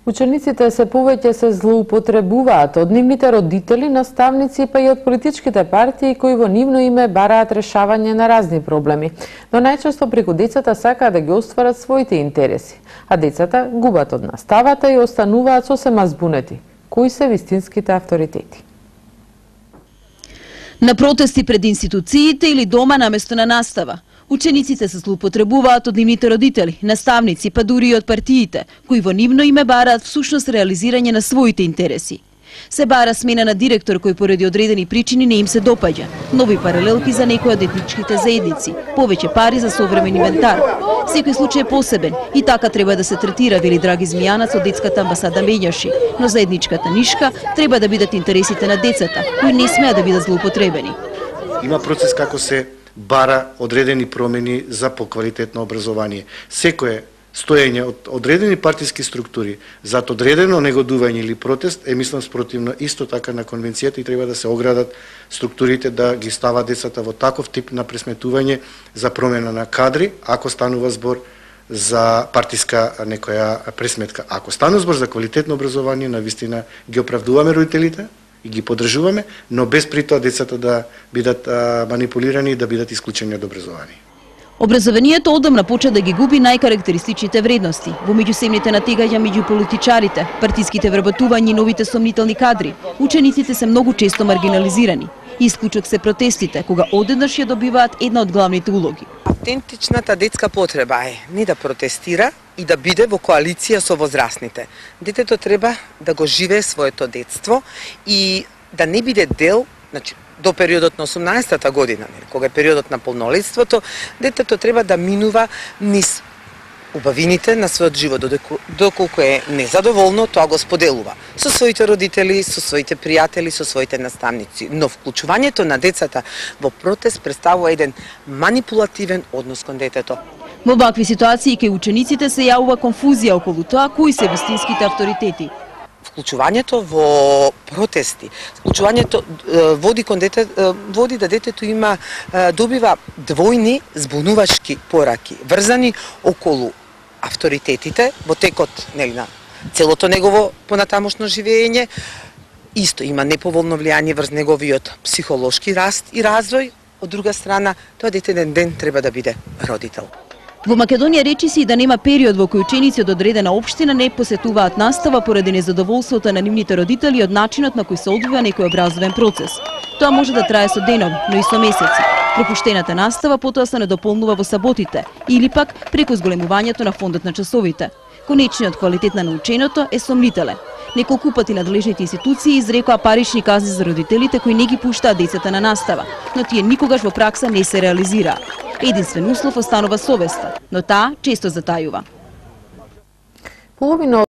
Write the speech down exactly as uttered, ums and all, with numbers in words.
Учениците се повеќе се злоупотребуваат од нивните родители, наставници, па и од политичките партии кои во нивно име бараат решавање на разни проблеми. Но најчесто преку децата сакаат да ги остварат своите интереси, а децата губат од наставата и остануваат сосема збунети. Кои се вистинските авторитети? На протести пред институциите или дома наместо на настава. Учениците се злоупотребуваат од нивните родители, наставници, па дури и од партиите, кои во нивно име бараат всушност реализирање на своите интереси. Се бара смена на директор кој поради одредени причини не им се допаѓа, нови паралелки за некои од етничките заедници, повеќе пари за современ инвентар. Секој случај е посебен и така треба да се третира, вели Драги Змијанац од детската амбасада Меѓаши, но за етничката нишка треба да бидат интересите на децата, кои не смеа да бидат злоупотребени. Има процес како се бара одредени промени за поквалитетно образование. Секое стоење од одредени партиски структури за одредено негодување или протест е мислам спротивно исто така на конвенцијата и треба да се оградат структурите да ги стават децата во таков тип на пресметување за промена на кадри, ако станува збор за партиска некоја пресметка. Ако станува збор за квалитетно образование, навистина ги оправдуваме родителите и ги поддржуваме, но без при тоа децата да бидат а, манипулирани и да бидат исклучени од образование. Образованието одамна почна да ги губи најкарактеристичните вредности во меѓусебните натегања меѓу политичарите, партиските вработувања и новите сомнителни кадри. Учениците се многу често маргинализирани. Исклучок се протестите, кога одеднаш ја добиваат една од главните улоги. Автентичната детска потреба е не да протестира и да биде во коалиција со возрастните. Детето треба да го живее своето детство и да не биде дел, значи до периодот на осумнаесетата година, кога е периодот на полнолетството, детето треба да минува низ убавините на својот живот, доколку е незадоволно, тоа го споделува со своите родители, со своите пријатели, со своите наставници. Но вклучувањето на децата во протест представува еден манипулативен однос кон детето. Во вакви ситуации кај учениците се јавува конфузија околу тоа кои се вистинските авторитети. Вклучувањето во протести, вклучувањето води кон дете, води да детето има добива двојни збунувачки пораки, врзани околу авторитетите во текот, нели, на целото негово понатамошно живење. Исто има неповолно влијание врз неговиот психолошки раст и развој. Од друга страна, тоа дете еден ден треба да биде родител. Во Македонија речи се и да нема период во кој ученици од одредена општина не посетуваат настава поради незадоволството на нивните родители од начинот на кој се одвива некој образовен процес. Тоа може да трае со денови, но и со месеци. Пропуштената настава потоа се надополнува во саботите или пак преку зголемувањето на фондот на часовите. Конечниот квалитет на наученото е сомнителен. Неколку пати надлежните институции изрекоа парични казни за родителите кои не ги пуштаат децата на настава, но тие никогаш во пракса не се реализираат. Единствен услов останува совеста, но таа често затајува. Половина